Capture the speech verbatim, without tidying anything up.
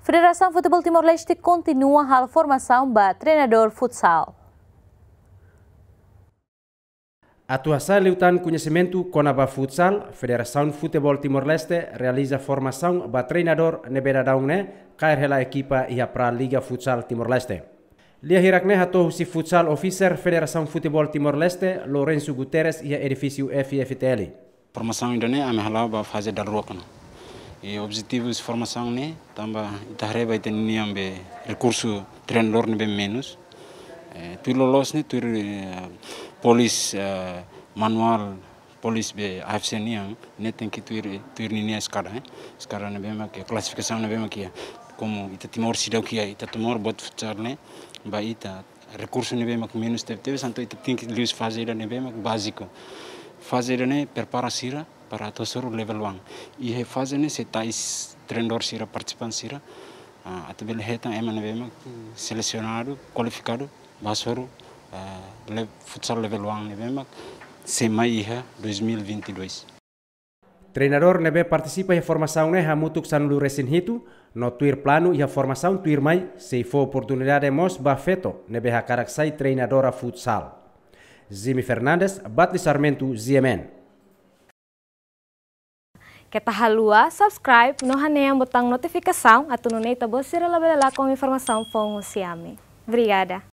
Federasaun Futeból Timor-Leste kontinua halo formasaun ba treinadór futsal. Atu hasa'e liután koñesimentu kona-ba futsal, Federasaun Futeból Timor-Leste realiza formasaun ba treinadór ne'ebé daudaun ne'e kaer hela ekipa iha Pra Liga Futsal Timor-Leste. Lia hirak ne'e hato'o husi Futsal Officer Federasaun Futeból Timor-Leste, Lourenço Guterres, iha edifísiu F F T L. Formasaun ida-ne'e ami hala'o ba faze daruak ona. I objetivu husi formasaun ne'e tanba ita haree ba ita-nia be rekursu treinadór ne'ebé menus. Eh, tuir loloos ne'e, tuir, eh, polis, eh, manuál polis be A F C nian, ne'e tenke tuir, tuir ninia eskada, eh. Eskada ne'ebé mak iha, klasifikasaun ne'ebé mak iha. Komu ita Timor seidauk iha, ita Timor buat futsal ne'e, ba ita rekursu ne'ebé mak menus tebetebes, entaun ita tenke liu faze ida ne'ebé mak báziku. Faze ida-ne'e prepara sira para atu hasoru level one. I iha faze ne'e sei tau treinadór sira, partisipante sira, ah, atu bele hetan ema ne'ebé mak selesionadu, kualifikadu, ba hasoru, ah, le-, futsal level one ne'ebé mak sei mai iha dois mil e vinte e dois. Treinadór ne'ebé partisipa iha formasaun ne'e hamutuk sanulu-resin-hitu, no tuir planu iha formasaun tuirmai sei fó oportunidade mós ba feto ne'ebé hakarak sai treinadora futsal. Jimmy Fernandes, Batli Sarmento, G M N. Keta haluha subscribe no hanehan butaun notifikasaun atu nune'e ita-boot sira labele lakon informasaun foun husi ami. Obrigada.